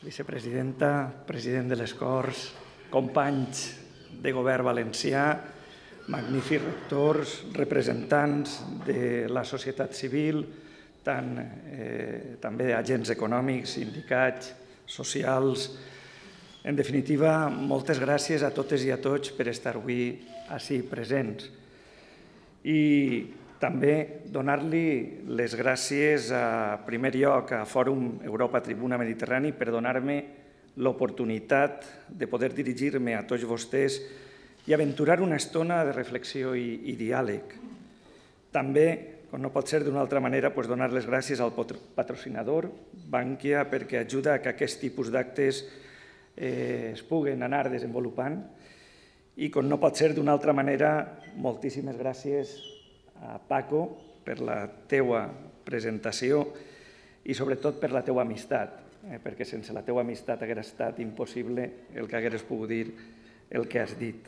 vicepresidenta, president de les Corts, companys de govern valencià, magnífics rectors, representants de la societat civil, també agents econòmics, sindicats, socials. En definitiva, moltes gràcies a totes i a tots per estar avui ací presents. I també donar-li les gràcies, en primer lloc, a Fòrum Europa Tribuna Mediterrani per donar-me l'oportunitat de poder dirigir-me a tots vostès i aventurar una estona de reflexió i diàleg. També, com no pot ser d'una altra manera, donar les gràcies al patrocinador, Bankia, perquè ajuda que aquest tipus d'actes es puguen anar desenvolupant. I, com no pot ser d'una altra manera, moltíssimes gràcies a Paco per la teua presentació i sobretot per la teua amistat, perquè sense la teua amistat hauria estat impossible el que hagués pogut dir el que has dit.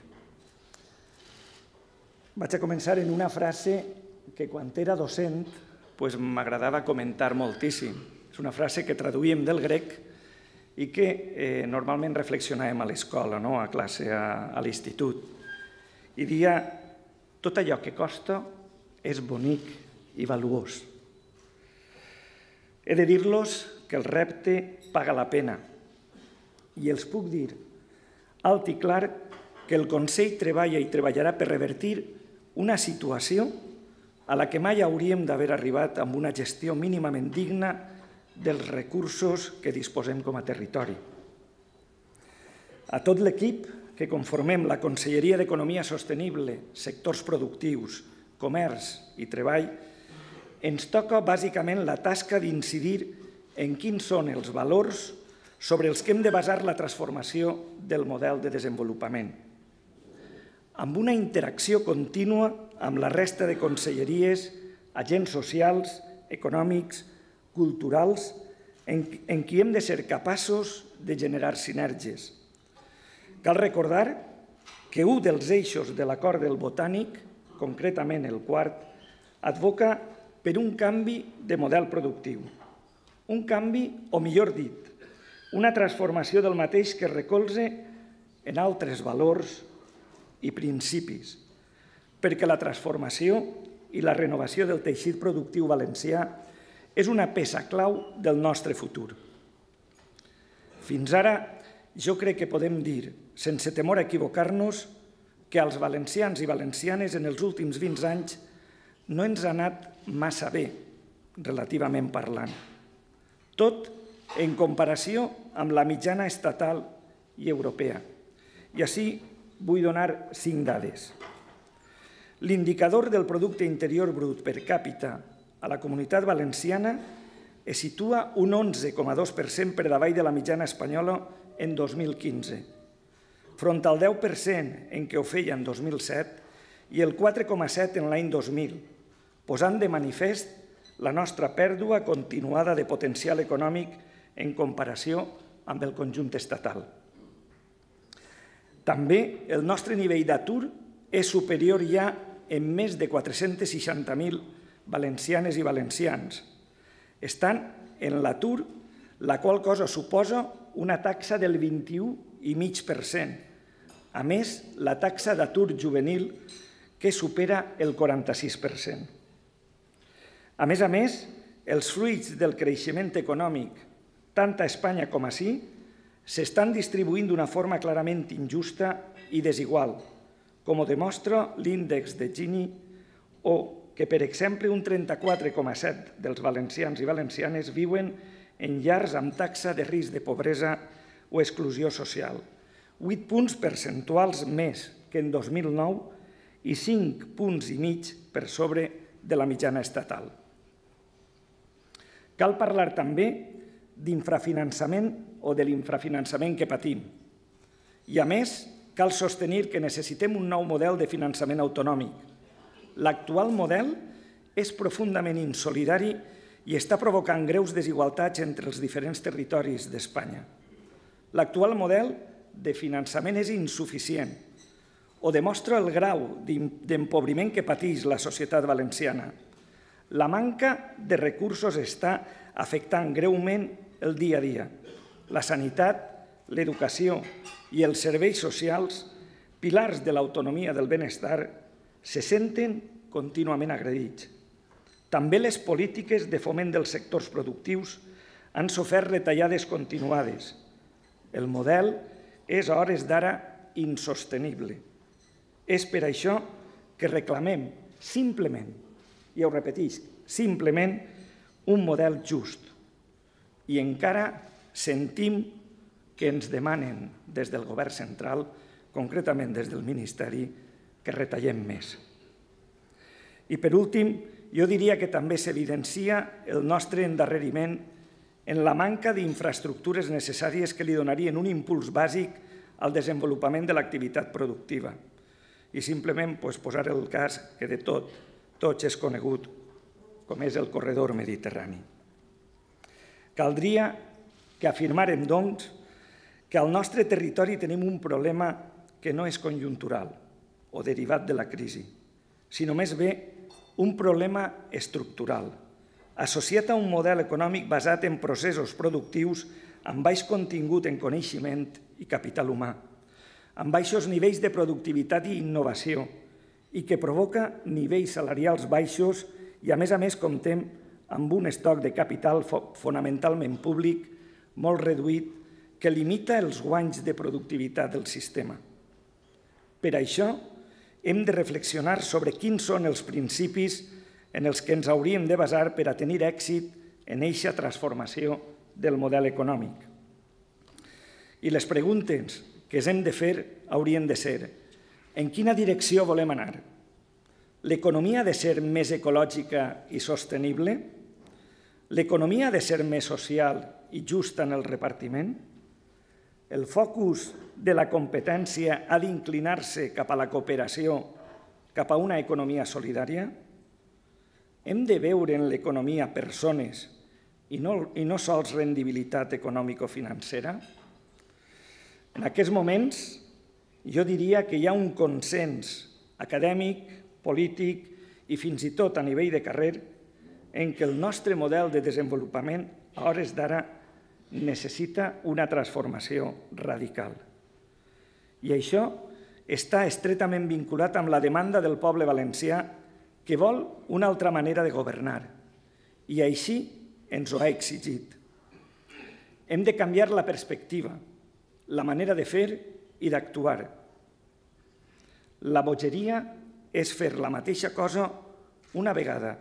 Vaig a començar en una frase que quan era docent m'agradava comentar moltíssim. És una frase que traduïm del grec i que normalment reflexionàvem a l'escola, a classe, a l'institut. I deia: tot allò que costa és bonic i valuós. He de dir-los que el repte paga la pena i els puc dir alt i clar que el Consell treballa i treballarà per revertir una situació a la que mai hauríem d'haver arribat amb una gestió mínimament digna dels recursos que disposem com a territori. A tot l'equip que conformem la Conselleria d'Economia Sostenible, sectors productius, comerç i treball, ens toca bàsicament la tasca d'incidir en quins són els valors sobre els que hem de basar la transformació del model de desenvolupament, amb una interacció contínua amb la resta de conselleries, agents socials, econòmics, culturals, en qui hem de ser capaços de generar sinergies. Cal recordar que un dels eixos de l'acord del Botànic, concretament el quart, advoca per un canvi de model productiu. Un canvi, o millor dit, una transformació del mateix que es recolza en altres valors i principis, perquè la transformació i la renovació del teixit productiu valencià és una peça clau del nostre futur. Fins ara, jo crec que podem dir, sense temor a equivocar-nos, que als valencians i valencianes en els últims 20 anys no ens ha anat massa bé, relativament parlant. Tot en comparació amb la mitjana estatal i europea. I així vull donar 5 dades. L'indicador del producte interior brut per càpita a la Comunitat Valenciana es situa un 11,2% per davall de la mitjana espanyola en 2015, front al 10% en què ho feia en 2007 i el 4,7% en l'any 2000, posant de manifest la nostra pèrdua continuada de potencial econòmic en comparació amb el conjunt estatal. També el nostre nivell d'atur és superior ja en més de 460.000 valencianes i valencians. Estan en l'atur, la qual cosa suposa una taxa del 21,5%. A més, la taxa d'atur juvenil que supera el 46%. A més, els fruits del creixement econòmic, tant a Espanya com ací, s'estan distribuint d'una forma clarament injusta i desigual, com ho demostra l'índex de Gini, o que, per exemple, un 34,7% dels valencians i valencianes viuen en llars amb taxa de risc de pobresa o exclusió social, 8 punts percentuals més que en 2009 i 5,5 punts per sobre de la mitjana estatal. Cal parlar també d'infrafinançament o de l'infrafinançament que patim. I, a més, cal sostenir que necessitem un nou model de finançament autonòmic. L'actual model és profundament insolidari i està provocant greus desigualtats entre els diferents territoris d'Espanya. L'actual model de finançament és insuficient o demostra el grau d'empobriment que pateix la societat valenciana. La manca de recursos està afectant greument el dia a dia la sanitat, l'educació i els serveis socials, pilars de l'autonomia del benestar, se senten contínuament agredits. També les polítiques de foment dels sectors productius han sofert retallades continuades. El model és a hores d'ara insostenible. És per això que reclamem simplement, i ho repetisc, simplement un model just. I encara sentim que ens demanen des del govern central, concretament des del Ministeri, que retallem més. I per últim, jo diria que també s'evidencia el nostre endarreriment en la manca d'infraestructures necessàries que li donarien un impuls bàsic al desenvolupament de l'activitat productiva. I simplement posar el cas que de tots és conegut, com és el corredor mediterrani. Caldria que afirmàrem, doncs, que al nostre territori tenim un problema que no és conjuntural o derivat de la crisi, sinó més bé un problema estructural, associat a un model econòmic basat en processos productius amb baix contingut en coneixement i capital humà, amb baixos nivells de productivitat i innovació i que provoca nivells salarials baixos i, a més, comptem amb un estoc de capital fonamentalment públic molt reduït que limita els guanys de productivitat del sistema. Per això, hem de reflexionar sobre quins són els principis en els que ens hauríem de basar per a tenir èxit en eixa transformació del model econòmic. I les preguntes que ens hem de fer haurien de ser: en quina direcció volem anar? L'economia ha de ser més ecològica i sostenible? L'economia ha de ser més social i justa en el repartiment? El focus de la competència ha d'inclinar-se cap a la cooperació, cap a una economia solidària? Hem de veure en l'economia persones i no sols rendibilitat econòmico-financera? En aquests moments, jo diria que hi ha un consens acadèmic, polític i fins i tot a nivell de carrer en què el nostre model de desenvolupament a hores d'ara necessita una transformació radical. I això està estretament vinculat amb la demanda del poble valencià que vol una altra manera de governar i així ens ho ha exigit. Hem de canviar la perspectiva, la manera de fer i d'actuar. La bogeria és fer la mateixa cosa una vegada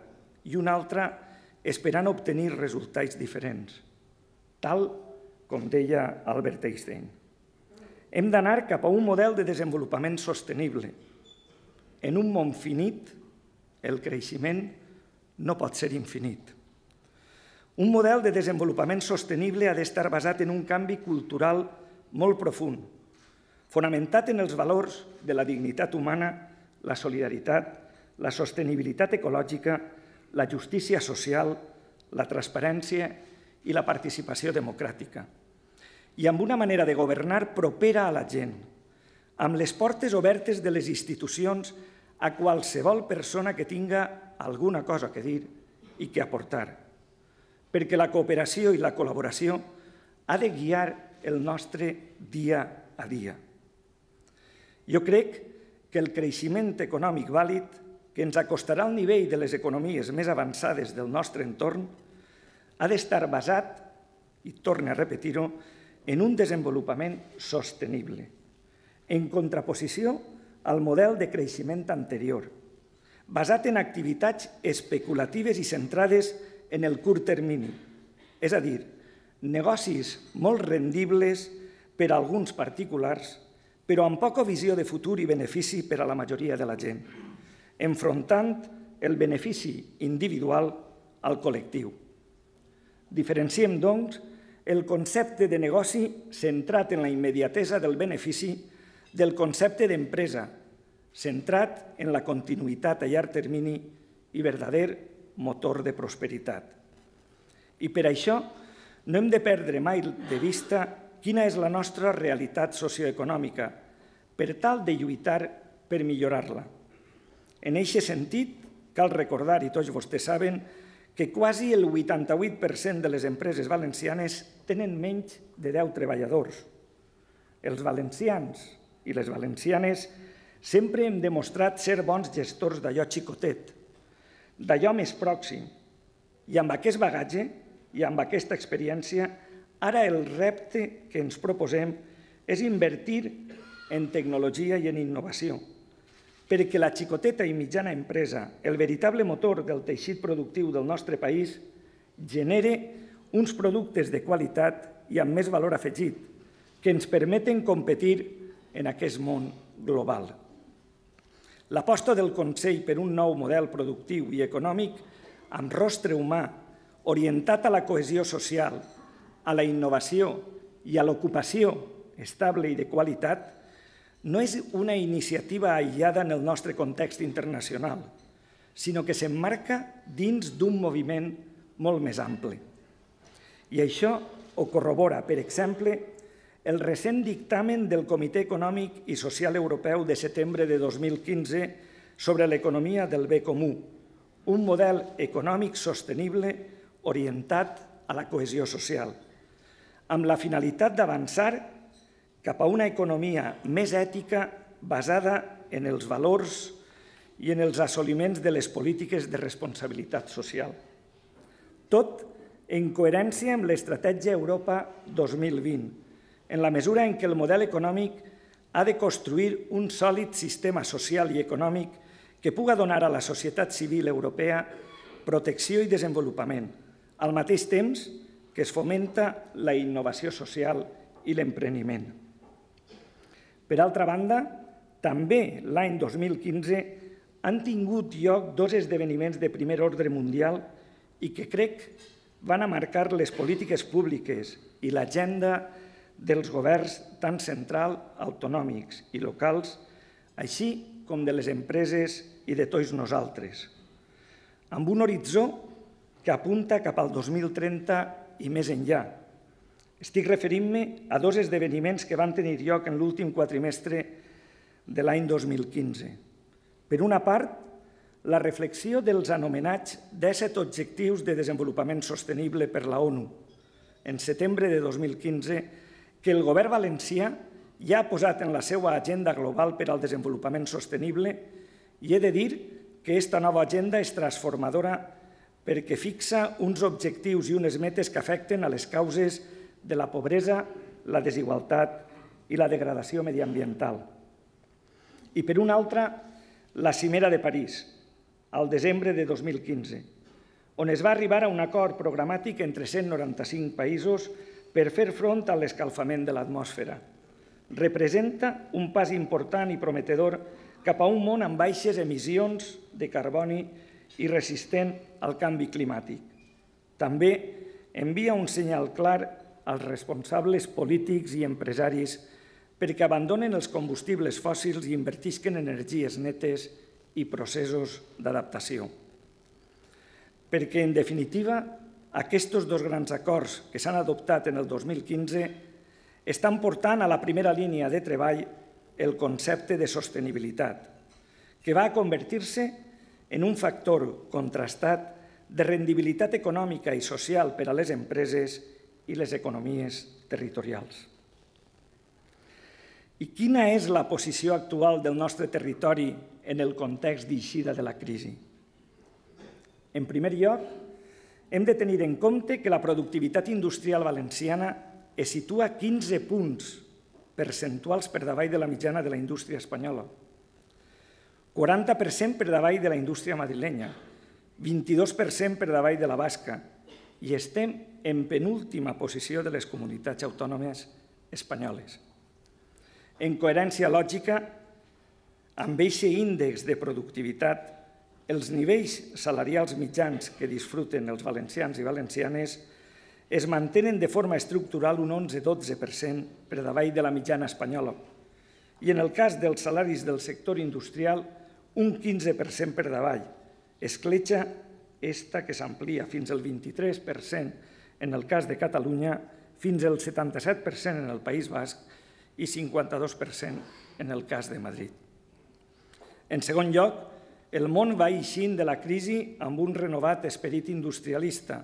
i una altra esperant obtenir resultats diferents, tal com deia Albert Einstein. Hem d'anar cap a un model de desenvolupament sostenible. En un món finit, el creixement no pot ser infinit. Un model de desenvolupament sostenible ha d'estar basat en un canvi cultural molt profund, fonamentat en els valors de la dignitat humana, la solidaritat, la sostenibilitat ecològica, la justícia social, la transparència i la participació democràtica. I amb una manera de governar propera a la gent, amb les portes obertes de les institucions a qualsevol persona que tinga alguna cosa que dir i que aportar, perquè la cooperació i la col·laboració ha de guiar el nostre dia a dia. Jo crec que el creixement econòmic vàlid, que ens acostarà al nivell de les economies més avançades del nostre entorn, ha d'estar basat, i torno a repetir-ho, en un desenvolupament sostenible, en contraposició al model de creixement anterior, basat en activitats especulatives i centrades en el curt termini, és a dir, negocis molt rendibles per a alguns particulars, però amb poca visió de futur i benefici per a la majoria de la gent, enfrontant el benefici individual al col·lectiu. Diferenciem, doncs, el concepte de negoci centrat en la immediatesa del benefici del concepte d'empresa, centrat en la continuïtat a llarg termini i verdader motor de prosperitat. I per això no hem de perdre mai de vista quina és la nostra realitat socioeconòmica per tal de lluitar per millorar-la. En aquest sentit, cal recordar, i tots vostès saben, que quasi el 88% de les empreses valencianes tenen menys de 10 treballadors. Els valencians i les valencianes sempre hem demostrat ser bons gestors d'allò xicotet, d'allò més pròxim. I amb aquest bagatge i amb aquesta experiència, ara el repte que ens proposem és invertir en tecnologia i en innovació, perquè la xicoteta i mitjana empresa, el veritable motor del teixit productiu del nostre país, genere uns productes de qualitat i amb més valor afegit, que ens permeten competir en aquest món global. L'aposta del Consell per un nou model productiu i econòmic amb rostre humà, orientat a la cohesió social, a la innovació i a l'ocupació estable i de qualitat, no és una iniciativa aïllada en el nostre context internacional, sinó que s'emmarca dins d'un moviment molt més ampli. I això ho corrobora, per exemple, el recent dictamen del Comitè Econòmic i Social Europeu de setembre de 2015 sobre l'economia del bé comú, un model econòmic sostenible orientat a la cohesió social, amb la finalitat d'avançar cap a una economia més ètica basada en els valors i en els assoliments de les polítiques de responsabilitat social. Tot en coherència amb l'Estratègia Europa 2020, en la mesura en què el model econòmic ha de construir un sòlid sistema social i econòmic que puga donar a la societat civil europea protecció i desenvolupament, al mateix temps que es fomenta la innovació social i l'empreniment. Per altra banda, també l'any 2015 han tingut lloc dos esdeveniments de primer ordre mundial i que crec van a marcar les polítiques públiques i l'agenda dels governs tant central, autonòmics i locals, així com de les empreses i de tots nosaltres, amb un horitzó que apunta cap al 2030 i més enllà. Estic referint-me a dos esdeveniments que van tenir lloc en l'últim quatrimestre de l'any 2015. Per una part, la reflexió dels anomenats 17 Objectius de Desenvolupament Sostenible per la ONU, en setembre de 2015, que el govern valencià ja ha posat en la seva agenda global per al desenvolupament sostenible i he de dir que aquesta nova agenda és transformadora perquè fixa uns objectius i unes metes que afecten a les causes de la pobresa, la desigualtat i la degradació mediambiental. I per una altra, la Cimera de París, al desembre de 2015, on es va arribar a un acord programàtic entre 195 països per fer front a l'escalfament de l'atmosfera. Representa un pas important i prometedor cap a un món amb baixes emissions de carboni i resistent al canvi climàtic. També envia un senyal clar als responsables polítics i empresaris perquè abandonen els combustibles fòssils i invertisquen en energies netes i processos d'adaptació. Perquè, en definitiva, aquests dos grans acords que s'han adoptat en el 2015 estan portant a la primera línia de treball el concepte de sostenibilitat, que va a convertir-se en un factor contrastat de rendibilitat econòmica i social per a les empreses i les economies territorials. I quina és la posició actual del nostre territori en el context d'eixida de la crisi? En primer lloc, hem de tenir en compte que la productivitat industrial valenciana es situa 15 punts percentuals per davall de la mitjana de la indústria espanyola, 40% per davall de la indústria madrilenya, 22% per davall de la basca, i estem en penúltima posició de les comunitats autònomes espanyoles. En coherència lògica, amb aquest índex de productivitat, els nivells salarials mitjans que disfruten els valencians i valencianes es mantenen de forma estructural un 11-12% per davall de la mitjana espanyola i en el cas dels salaris del sector industrial un 15% per davall. Escletxa esta que s'amplia fins al 23% en el cas de Catalunya, fins al 77% en el País Basc i 52% en el cas de Madrid. En segon lloc, el món va eixint de la crisi amb un renovat esperit industrialista.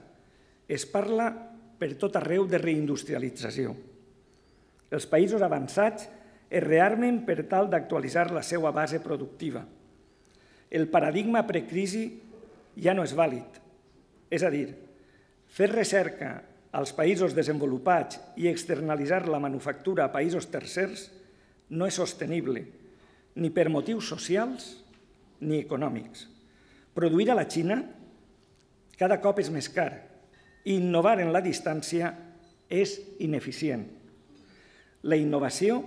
Es parla per tot arreu de reindustrialització. Els països avançats es rearmen per tal d'actualitzar la seva base productiva. El paradigma precrisi ja no és vàlid. És a dir, fer recerca als països desenvolupats i externalitzar la manufactura a països tercers no és sostenible, ni per motius socials ni econòmics. Produir a la Xina cada cop és més car i innovar en la distància és ineficient. La innovació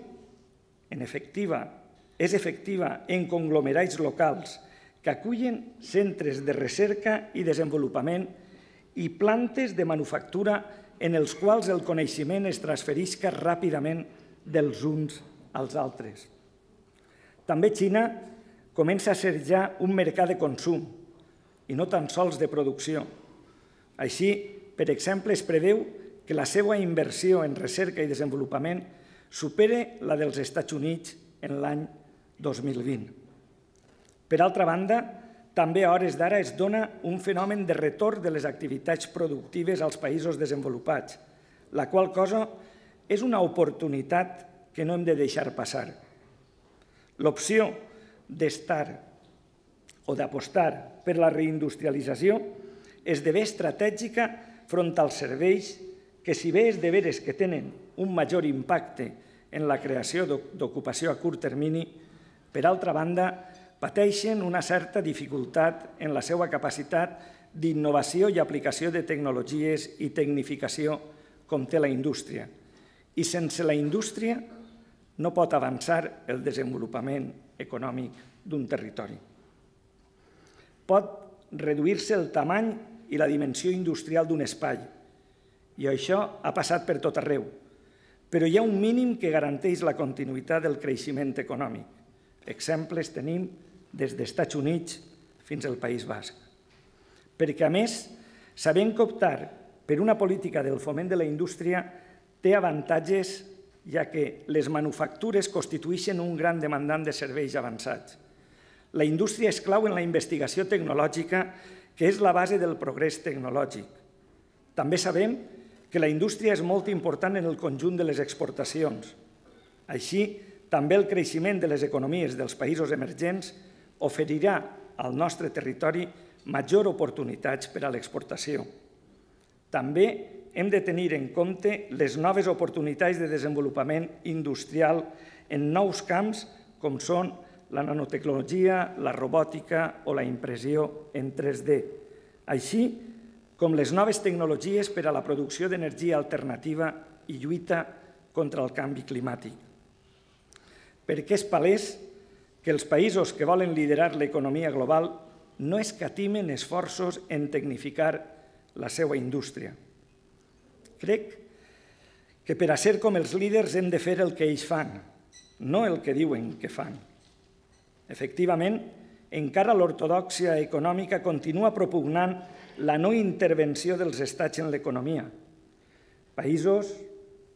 és efectiva en conglomerats locals que acullen centres de recerca i desenvolupament i plantes de manufactura en els quals el coneixement es transferisca ràpidament dels uns als altres. També Xina comença a ser ja un mercat de consum i no tan sols de producció. Així, per exemple, es preveu que la seva inversió en recerca i desenvolupament supere la dels Estats Units en l'any 2020. Per altra banda, també a hores d'ara es dona un fenomen de retorn de les activitats productives als països desenvolupats, la qual cosa és una oportunitat que no hem de deixar passar. L'opció d'estar o d'apostar per la reindustrialització esdevé estratègica front als serveis que, si bé és de veres que tenen un major impacte en la creació d'ocupació a curt termini, per altra banda, pateixen una certa dificultat en la seva capacitat d'innovació i aplicació de tecnologies i tecnificació com té la indústria. I sense la indústria no pot avançar el desenvolupament econòmic d'un territori. Pot reduir-se el tamany i la dimensió industrial d'un espai, i això ha passat per tot arreu, però hi ha un mínim que garanteix la continuïtat del creixement econòmic. Exemples tenim des dels Estats Units fins al País Basc. Perquè, a més, sabem que optar per una política del foment de la indústria té avantatges, ja que les manufactures constitueixen un gran demandant de serveis avançats. La indústria és clau en la investigació tecnològica, que és la base del progrés tecnològic. També sabem que la indústria és molt important en el conjunt de les exportacions. Així, també el creixement de les economies dels països emergents oferirà al nostre territori major oportunitats per a l'exportació. També hem de tenir en compte les noves oportunitats de desenvolupament industrial en nous camps com són la nanotecnologia, la robòtica o la impressió en 3D, així com les noves tecnologies per a la producció d'energia alternativa i lluita contra el canvi climàtic. Perquè és palès que els països que volen liderar l'economia global no escatimen esforços en tecnificar la seva indústria. Crec que per a ser com els líders hem de fer el que ells fan, no el que diuen que fan. Efectivament, encara l'ortodòxia econòmica continua propugnant la no intervenció dels estats en l'economia. Països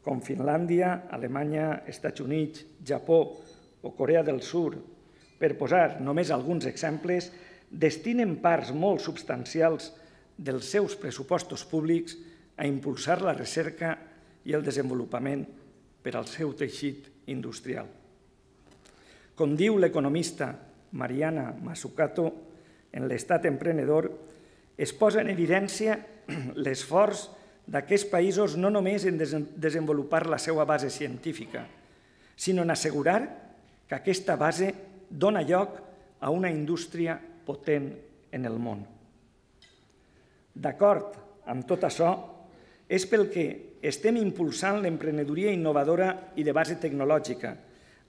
com Finlàndia, Alemanya, Estats Units, Japó o Corea del Sud, per posar només alguns exemples, destinen parts molt substancials dels seus pressupostos públics a impulsar la recerca i el desenvolupament per al seu teixit industrial. Com diu l'economista Mariana Mazzucato, en l'Estat emprenedor es posa en evidència l'esforç d'aquests països no només en desenvolupar la seva base científica, sinó en assegurar que aquesta base dona lloc a una indústria potent en el món. D'acord amb tot això, és pel que estem impulsant l'emprenedoria innovadora i de base tecnològica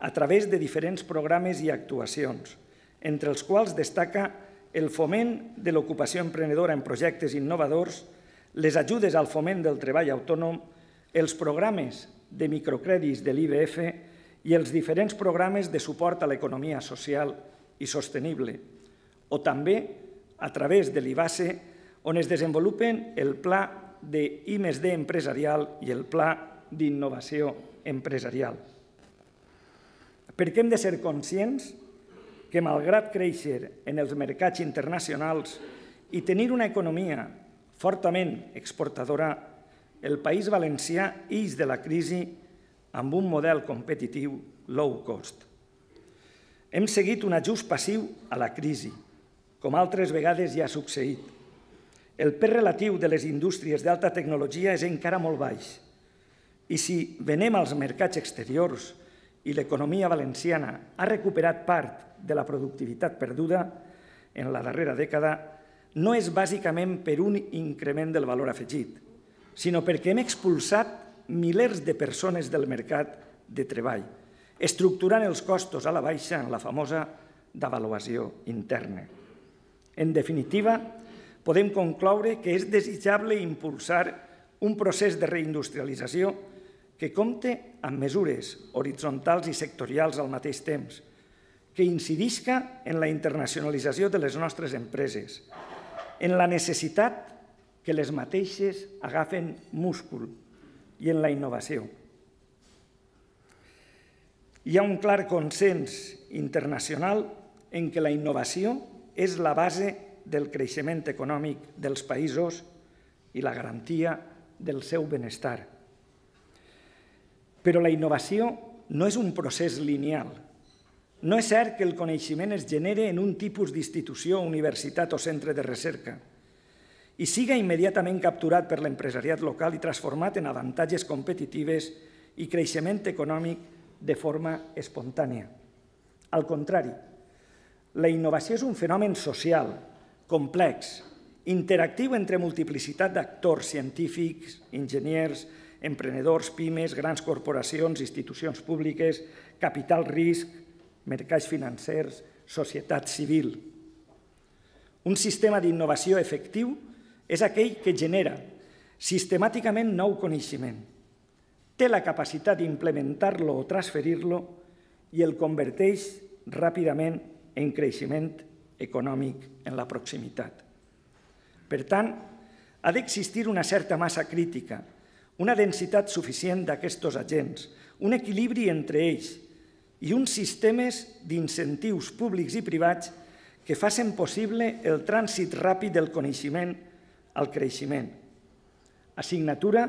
a través de diferents programes i actuacions, entre els quals destaca el foment de l'ocupació emprenedora en projectes innovadors, les ajudes al foment del treball autònom, els programes de microcrèdits de l'IBF i els diferents programes de suport a l'economia social i sostenible, o també a través de l'IBASE, on es desenvolupen el Pla de I+D empresarial i el Pla d'Innovació Empresarial. Perquè hem de ser conscients que, malgrat créixer en els mercats internacionals i tenir una economia fortament exportadora, el País Valencià ix de la crisi amb un model competitiu low cost. Hem seguit un ajust passiu a la crisi, com altres vegades ja ha succeït. El pes relatiu de les indústries d'alta tecnologia és encara molt baix. I si venem als mercats exteriors i l'economia valenciana ha recuperat part de la productivitat perduda en la darrera dècada, no és bàsicament per un increment del valor afegit, sinó perquè hem expulsat milers de persones del mercat de treball, estructurant els costos a la baixa en la famosa devaluació interna. En definitiva, podem concloure que és desitjable impulsar un procés de reindustrialització que compte amb mesures horitzontals i sectorials al mateix temps, que incidisca en la internacionalització de les nostres empreses, en la necessitat que les mateixes agafen múscul i en la innovació. Hi ha un clar consens internacional en què la innovació és la base del creixement econòmic dels països i la garantia del seu benestar. Però la innovació no és un procés lineal. No és cert que el coneixement es genere en un tipus d'institució, universitat o centre de recerca i siga immediatament capturat per l'empresariat local i transformat en avantatges competitives i creixement econòmic de forma espontània. Al contrari, la innovació és un fenomen social, complex, interactiu entre multiplicitat d'actors científics, enginyers, emprenedors, pimes, grans corporacions, institucions públiques, capital risc, mercats financers, societat civil. Un sistema d'innovació efectiu és aquell que genera sistemàticament nou coneixement, té la capacitat d'implementar-lo o transferir-lo i el converteix ràpidament en creixement econòmic en la proximitat. Per tant, ha d'existir una certa massa crítica, una densitat suficient d'aquests agents, un equilibri entre ells i uns sistemes d'incentius públics i privats que facin possible el trànsit ràpid del coneixement al creixement. Assignatura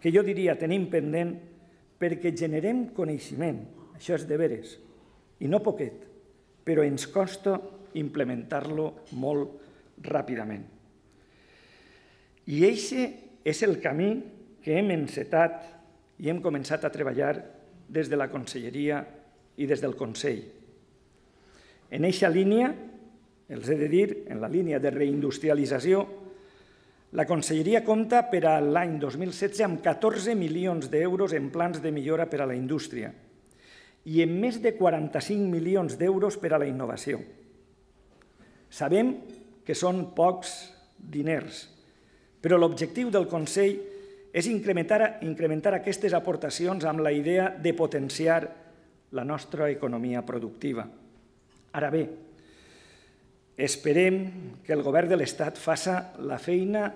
que jo diria tenim pendent perquè generem coneixement, això és de veres, i no poquet, però ens costa implementar-lo molt ràpidament. I aquest és el camí que hem encetat i hem començat a treballar des de la Conselleria i des del Consell. En aquesta línia, els he de dir, en la línia de reindustrialització, la Conselleria compta per a l'any 2016 amb 14 milions d'euros en plans de millora per a la indústria i amb més de 45 milions d'euros per a la innovació. Sabem que són pocs diners, però l'objectiu del Consell és incrementar aquestes aportacions amb la idea de potenciar la nostra economia productiva. Ara bé, esperem que el govern de l'Estat faça la feina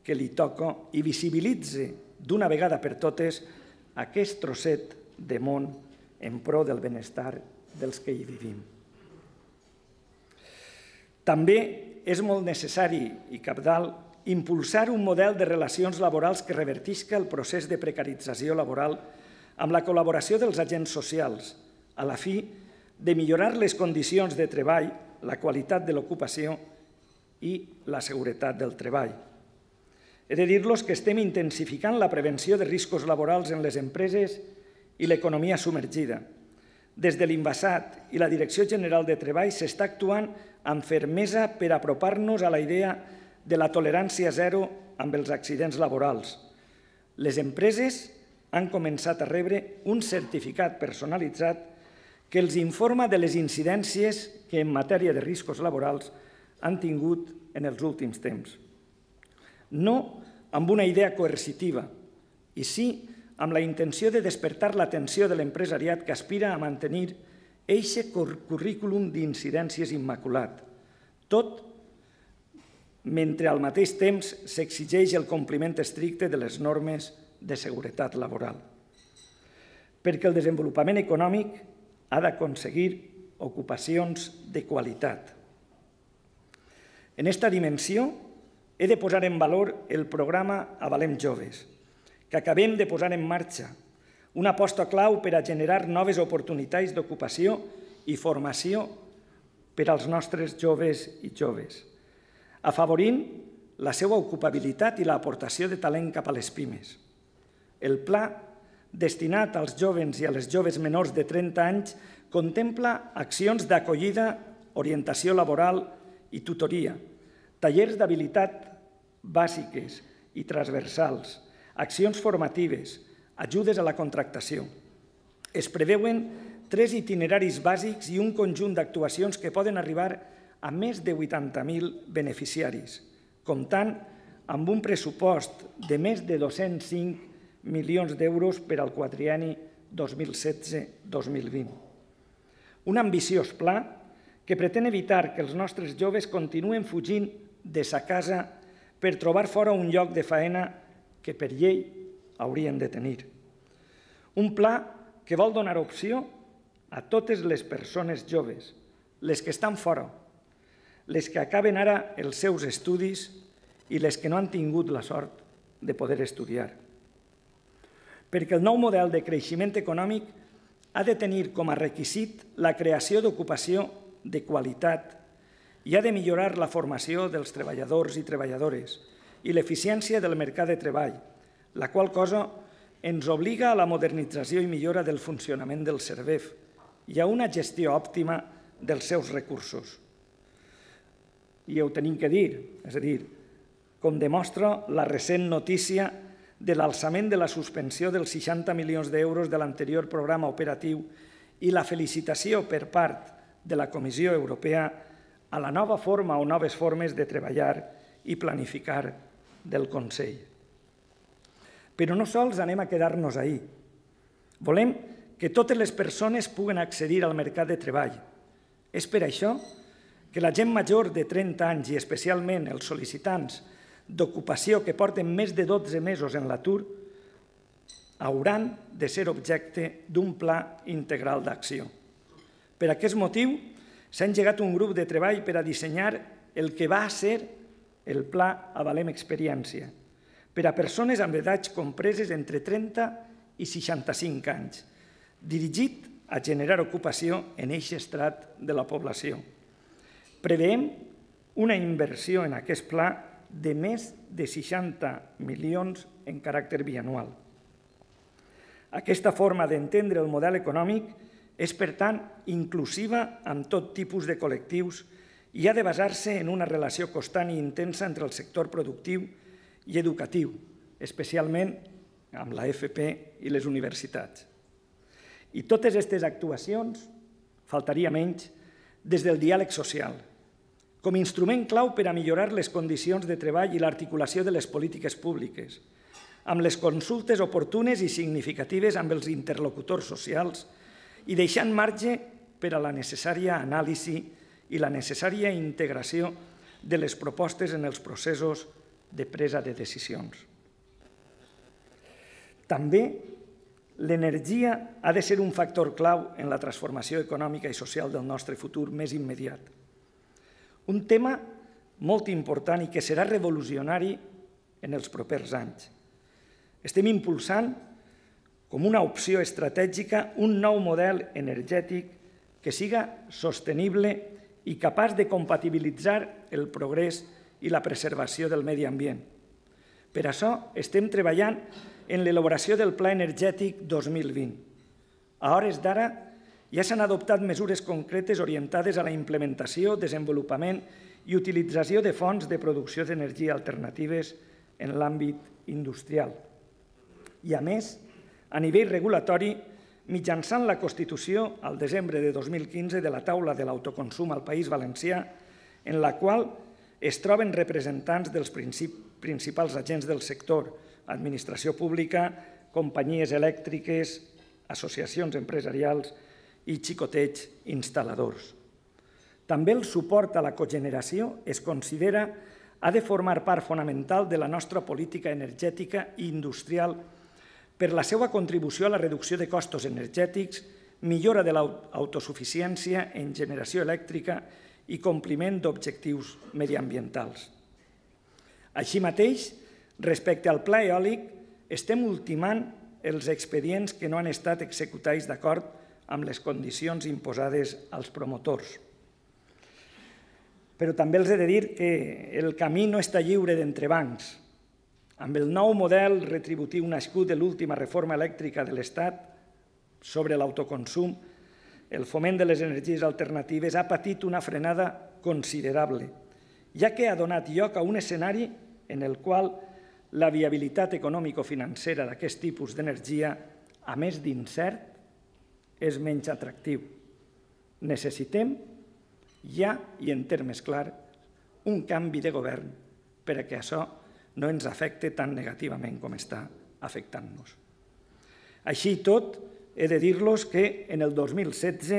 que li toca i visibilitzi d'una vegada per totes aquest trosset de món en pro del benestar dels que hi vivim. També és molt necessari i cabdal impulsar un model de relacions laborals que revertisca el procés de precarització laboral amb la col·laboració dels agents socials, a la fi de millorar les condicions de treball, la qualitat de l'ocupació i la seguretat del treball. He de dir-los que estem intensificant la prevenció de riscos laborals en les empreses i l'economia submergida. Des de l'Invasat i la Direcció General de Treball s'està actuant amb fermesa per apropar-nos a la idea de la tolerància zero amb els accidents laborals. Les empreses han començat a rebre un certificat personalitzat que els informa de les incidències que en matèria de riscos laborals han tingut en els últims temps. No amb una idea coercitiva, i sí amb la intenció de despertar l'atenció de l'empresariat que aspira a mantenir eixe currículum d'incidències immaculat, tot mentre al mateix temps s'exigeix el compliment estricte de les normes de seguretat laboral. Perquè el desenvolupament econòmic ha d'aconseguir ocupacions de qualitat. En esta dimensió, he de posar en valor el programa Avalem Joves, que acabem de posar en marxa, una aposta clau per a generar noves oportunitats d'ocupació i formació per als nostres joves i joves, afavorint la seva ocupabilitat i l'aportació de talent cap a les pimes. El pla destinat als joves i a les joves menors de 30 anys contempla accions d'acollida, orientació laboral i tutoria, tallers d'habilitat bàsiques i transversals, accions formatives, ajudes a la contractació. Es preveuen 3 itineraris bàsics i un conjunt d'actuacions que poden arribar a més de 80.000 beneficiaris, comptant amb un pressupost de més de 205 milions d'euros per al quadrienni 2016-2020. Un ambiciós pla que pretén evitar que els nostres joves continuen fugint de sa casa per trobar fora un lloc de faena que per llei haurien de tenir. Un pla que vol donar opció a totes les persones joves, les que estan fora, les que acaben ara els seus estudis i les que no han tingut la sort de poder estudiar. Perquè el nou model de creixement econòmic ha de tenir com a requisit la creació d'ocupació de qualitat i ha de millorar la formació dels treballadors i treballadores i l'eficiència del mercat de treball, la qual cosa ens obliga a la modernització i millora del funcionament del SERVEF i a una gestió òptima dels seus recursos. I ho tenim que dir, és a dir, com demostra la recent notícia de l'alçament de la suspensió dels 60 milions d'euros de l'anterior programa operatiu i la felicitació per part de la Comissió Europea a la nova forma o noves formes de treballar i planificar del Consell. Però no sols anem a quedar-nos ahí. Volem que totes les persones puguen accedir al mercat de treball. És per això que la gent major de 30 anys i especialment els sol·licitants d'ocupació que porten més de 12 mesos en l'atur hauran de ser objecte d'un pla integral d'acció. Per aquest motiu, s'ha engegat un grup de treball per a dissenyar el que va ser el Pla Avalem Experiència, per a persones amb edats compreses entre 30 i 65 anys, dirigit a generar ocupació en aquest estrat de la població. Preveiem una inversió en aquest pla de més de 60 milions en caràcter bianual. Aquesta forma d'entendre el model econòmic és, per tant, inclusiva amb tot tipus de col·lectius i ha de basar-se en una relació constant i intensa entre el sector productiu i educatiu, especialment amb la FP i les universitats. I totes aquestes actuacions, faltaria menys, des del diàleg social, com a instrument clau per a millorar les condicions de treball i l'articulació de les polítiques públiques, amb les consultes oportunes i significatives amb els interlocutors socials i deixant marge per a la necessària anàlisi i la necessària integració de les propostes en els processos de presa de decisions. També l'energia ha de ser un factor clau en la transformació econòmica i social del nostre futur més immediat. Un tema molt important i que serà revolucionari en els propers anys. Estem impulsant com una opció estratègica un nou model energètic que siga sostenible i capaç de compatibilitzar el progrés i la preservació del medi ambient. Per això estem treballant en l'elaboració del Pla Energètic 2020. A hores d'ara ja s'han adoptat mesures concretes orientades a la implementació, desenvolupament i utilització de fonts de producció d'energia alternatives en l'àmbit industrial. I, a més, a nivell regulatori, mitjançant la Constitució al desembre de 2015 de la taula de l'autoconsum al País Valencià, en la qual es troben representants dels principals agents del sector, administració pública, companyies elèctriques, associacions empresarials i xicotets instal·ladors. També el suport a la cogeneració es considera ha de formar part fonamental de la nostra política energètica i industrial per la seva contribució a la reducció de costos energètics millora de l'autosuficiència en generació elèctrica i compliment d'objectius mediambientals. Així mateix, respecte al pla eòlic, estem ultimant els expedients que no han estat executats d'acord amb les condicions imposades als promotors. Però també els he de dir que el camí no està lliure d'entrebancs. Amb el nou model retributiu nascut de l'última reforma elèctrica de l'Estat sobre l'autoconsum, el foment de les energies alternatives ha patit una frenada considerable, ja que ha donat lloc a un escenari en el qual la viabilitat econòmico-financera d'aquest tipus d'energia, a més d'incert, és menys atractiu. Necessitem, ja i en termes clars, un canvi de govern perquè això no ens afecte tan negativament com està afectant-nos. Així i tot, he de dir-los que en el 2016,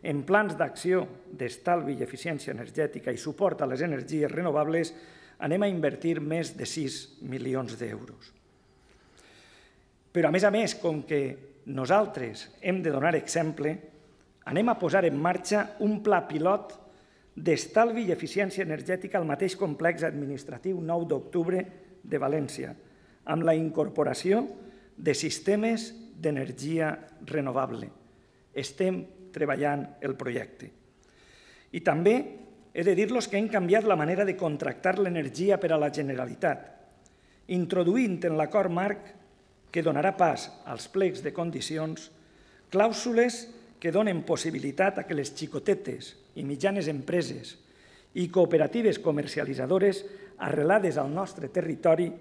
en plans d'acció d'estalvi i eficiència energètica i suport a les energies renovables, anem a invertir més de 6 milions d'euros. Però, a més, com que nosaltres hem de donar exemple, anem a posar en marxa un pla pilot d'estalvi i eficiència energètica al mateix complex administratiu 9 d'octubre de València, amb la incorporació de sistemes d'energia renovable. Estem treballant el projecte. I també he de dir-los que hem canviat la manera de contractar l'energia per a la Generalitat, introduint en l'acord marc que donarà pas als plecs de condicions clàusules que donen possibilitat a que les xicotetes i mitjanes empreses i cooperatives comercialitzadores arrelades al nostre territori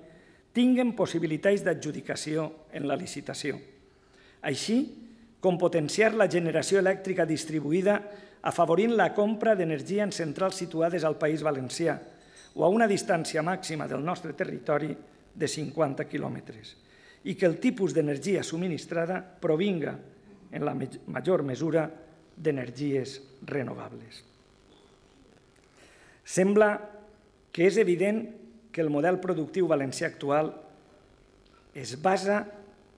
tinguen possibilitats d'adjudicació en la licitació, així com potenciar la generació elèctrica distribuïda afavorint la compra d'energia en centrals situades al País Valencià o a una distància màxima del nostre territori de 50 quilòmetres i que el tipus d'energia subministrada provinga en la major mesura d'energies renovables. Sembla que és evident que el model productiu valencià actual es basa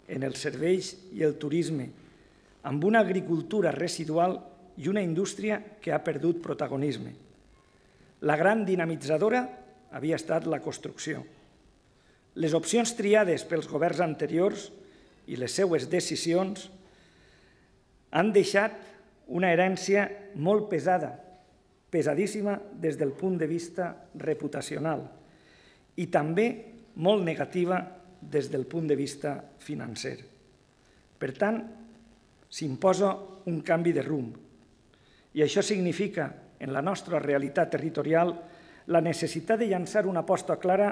en els serveis i el turisme, amb una agricultura residual i una indústria que ha perdut protagonisme. La gran dinamitzadora havia estat la construcció. Les opcions triades pels governs anteriors i les seues decisions han deixat una herència molt pesada, pesadíssima des del punt de vista reputacional i també molt negativa des del punt de vista financer. Per tant, s'imposa un canvi de rumb i això significa, en la nostra realitat territorial, la necessitat de llançar una aposta clara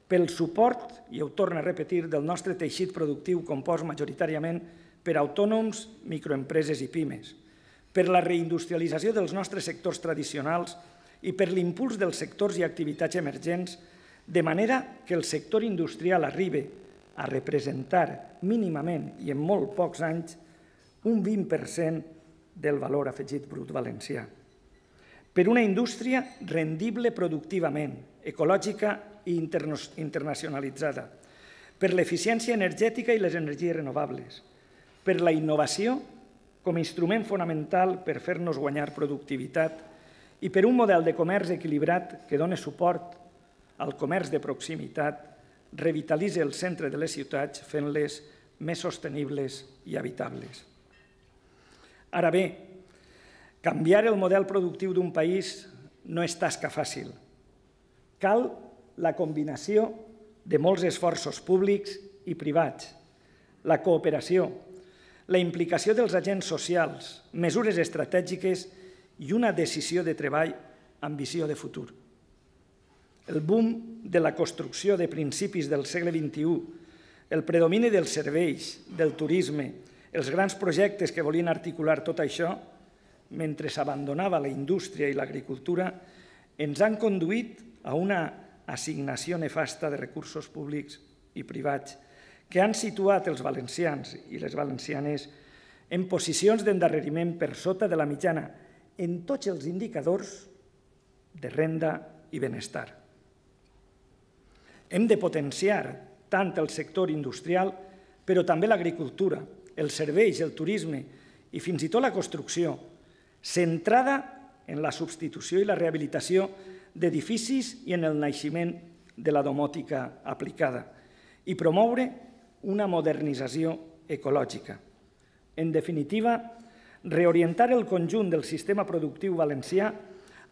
pel suport, i ho torno a repetir, del nostre teixit productiu compost majoritàriament per autònoms, microempreses i pimes, per la reindustrialització dels nostres sectors tradicionals i per l'impuls dels sectors i activitats emergents, de manera que el sector industrial arribi a representar mínimament i en molt pocs anys un 20% del valor afegit brut valencià. Per una indústria rendible productivament, ecològica i internacionalitzada, per l'eficiència energètica i les energies renovables, per la innovació com a instrument fonamental per fer-nos guanyar productivitat i per un model de comerç equilibrat que doni suport al comerç de proximitat, revitalitza el centre de les ciutats fent-les més sostenibles i habitables. Ara bé, canviar el model productiu d'un país no és tasca fàcil. Cal la combinació de molts esforços públics i privats, la cooperació, la implicació dels agents socials, mesures estratègiques i una decisió de treball amb visió de futur. El boom de la construcció de principis del segle XXI, el predomini dels serveis, del turisme, els grans projectes que volien articular tot això, mentre s'abandonava la indústria i l'agricultura, ens han conduït a una assignació nefasta de recursos públics i privats que han situat els valencians i les valencianes en posicions d'endarreriment per sota de la mitjana en tots els indicadors de renda i benestar. Hem de potenciar tant el sector industrial, però també l'agricultura, els serveis, el turisme i fins i tot la construcció, centrada en la substitució i la rehabilitació d'edificis i en el naixement de la domòtica aplicada i promoure una modernització ecològica. En definitiva, reorientar el conjunt del sistema productiu valencià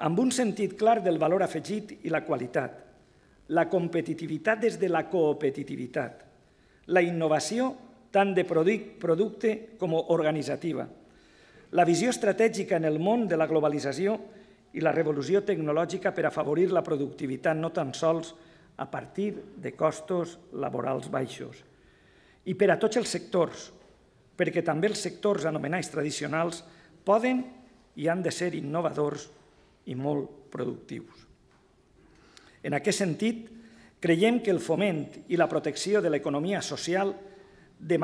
amb un sentit clar del valor afegit i la qualitat, la competitivitat des de la coopetitivitat, la innovació tant de producte com organitzativa, la visió estratègica en el món de la globalització i la revolució tecnològica per afavorir la productivitat no tan sols a partir de costos laborals baixos. I per a tots els sectors, perquè també els sectors anomenats tradicionals poden i han de ser innovadors i molt productius. En aquest sentit, creiem que el foment i la protecció de l'economia social de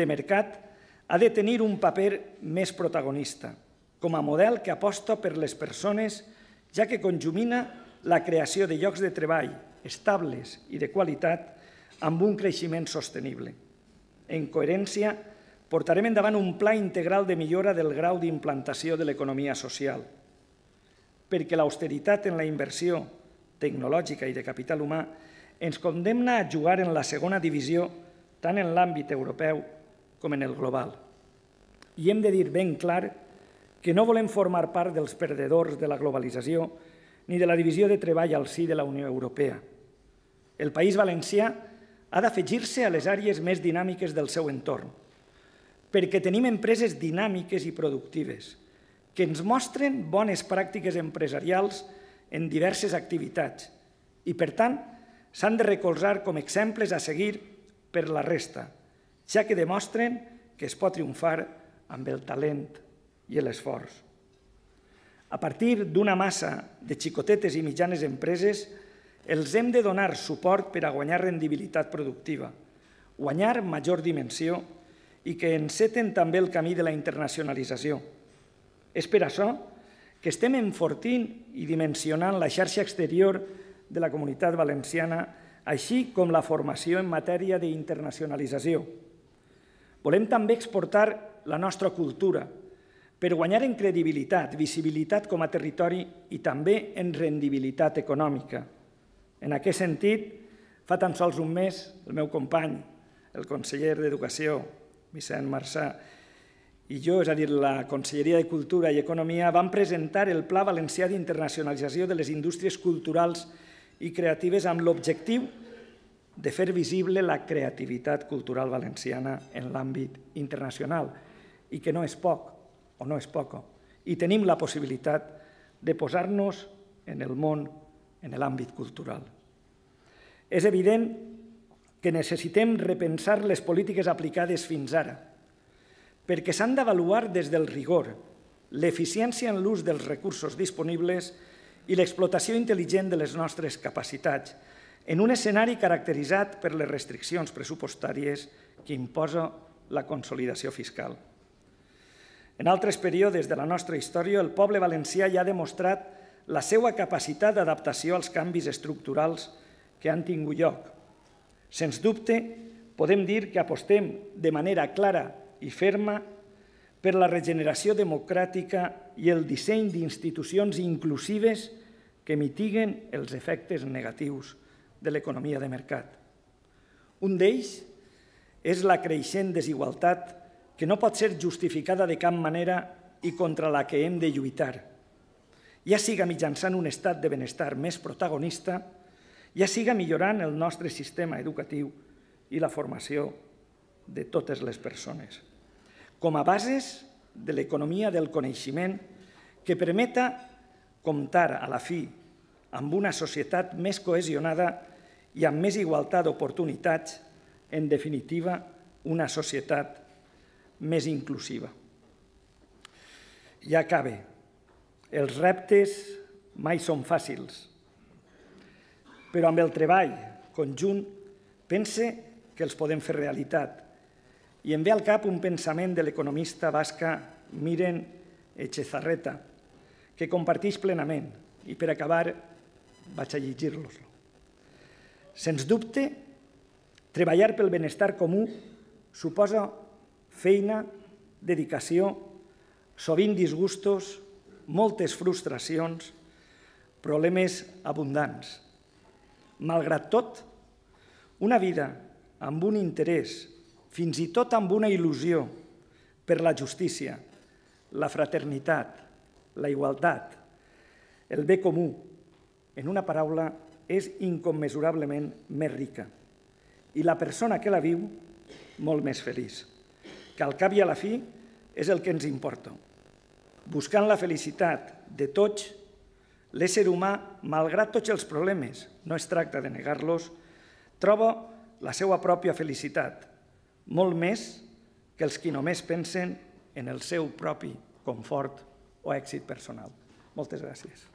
mercat ha de tenir un paper més protagonista, com a model que aposta per les persones, ja que conjumina la creació de llocs de treball estables i de qualitat amb un creixement sostenible. En coherència, portarem endavant un pla integral de millora del grau d'implantació de l'economia social, perquè l'austeritat en la inversió tecnològica i de capital humà ens condemna a jugar en la segona divisió tant en l'àmbit europeu com en el global. I hem de dir ben clar que no volem formar part dels perdedors de la globalització ni de la divisió de treball al si de la Unió Europea. El País Valencià ha d'afegir-se a les àrees més dinàmiques del seu entorn, perquè tenim empreses dinàmiques i productives que ens mostren bones pràctiques empresarials en diverses activitats i, per tant, s'han de recolzar com exemples a seguir per la resta, ja que demostren que es pot triomfar amb el talent i l'esforç. A partir d'una massa de xicotetes i mitjanes empreses, els hem de donar suport per a guanyar rendibilitat productiva, guanyar major dimensió i que enceten també el camí de la internacionalització. És per això que estem enfortint i dimensionant la xarxa exterior de la Comunitat Valenciana, així com la formació en matèria d'internacionalització. Volem també exportar la nostra cultura per guanyar en credibilitat, visibilitat com a territori i també en rendibilitat econòmica. En aquest sentit, fa tan sols un mes, el meu company, el conseller d'Educació, Vicent Marçà, i jo, és a dir, la Conselleria de Cultura i Economia, vam presentar el Pla Valencià d'Internacionalització de les Indústries Culturals i Creatives amb l'objectiu de fer visible la creativitat cultural valenciana en l'àmbit internacional i que no és poc o no és poca. I tenim la possibilitat de posar-nos en el món, en l'àmbit cultural. És evident que necessitem repensar les polítiques aplicades fins ara, perquè s'han d'avaluar des del rigor, l'eficiència en l'ús dels recursos disponibles i l'explotació intel·ligent de les nostres capacitats, en un escenari caracteritzat per les restriccions pressupostàries que imposa la consolidació fiscal. En altres períodes de la nostra història, el poble valencià ja ha demostrat la seva capacitat d'adaptació als canvis estructurals que han tingut lloc. Sens dubte, podem dir que apostem de manera clara i ferma per la regeneració democràtica i el disseny d'institucions inclusives que mitiguen els efectes negatius de l'economia de mercat. Un d'ells és la creixent desigualtat que no pot ser justificada de cap manera i contra la que hem de lluitar, ja siga mitjançant un estat de benestar més protagonista, ja siga millorant el nostre sistema educatiu i la formació de totes les persones, com a bases de l'economia del coneixement que permeta comptar a la fi amb una societat més cohesionada i amb més igualtat d'oportunitats, en definitiva, una societat més inclusiva. Ja acabe. Els reptes mai són fàcils, però amb el treball conjunt pense que els podem fer realitat. I em ve al cap un pensament de l'economista basca Miren Etxezarreta, que comparteix plenament, i per acabar vaig a llegir-los. Sens dubte, treballar pel benestar comú suposa feina dedicació, sovint disgustos, moltes frustracions, problemes abundants. Malgrat tot, una vida amb un interès, fins i tot amb una il·lusió per la justícia, la fraternitat, la igualtat, el bé comú, en una paraula, és incommensurablement més rica. I la persona que la viu, molt més feliç. Que al cap i a la fi és el que ens importa. Buscant la felicitat de tots, l'ésser humà, malgrat tots els problemes, no es tracta de negar-los, troba la seva pròpia felicitat, molt més que els qui només pensen en el seu propi confort o èxit personal. Moltes gràcies.